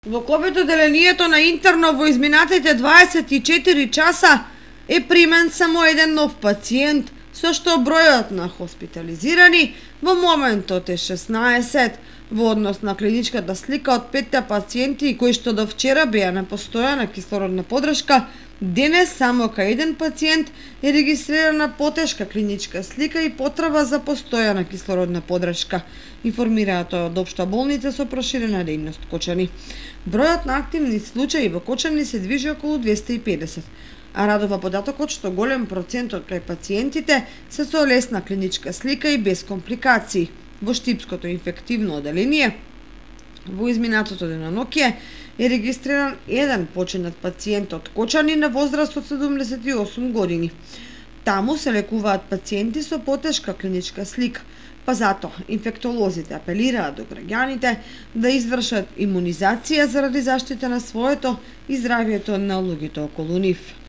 Во ковид оделението на интерно во изминатите 24 часа е примен само еден нов пациент, со што бројот на хоспитализирани во моментот е 16, во однос на клиничката слика од 5 пациенти кои што до вчера беа на постојана кислородна поддршка. Денес само кај еден пациент е регистрирана потешка клиничка слика и потреба за постојана кислородна поддршка, информираат од Општа болница со проширена дејност Кочани. Бројот на активни случаи во Кочани се движи околу 250, а радува податокот што голем процентот кај пациентите се со лесна клиничка слика и без компликации. Во Штипското инфективно оделение во изминатото денонокие е регистриран еден починат пациент од Кочани на возраст од 78 години. Таму се лекуваат пациенти со потешка клиничка слика, па затоа инфектолозите апелираат до граѓаните да извршат имунизација заради заштита на своето и здравјето на луѓето околу нив.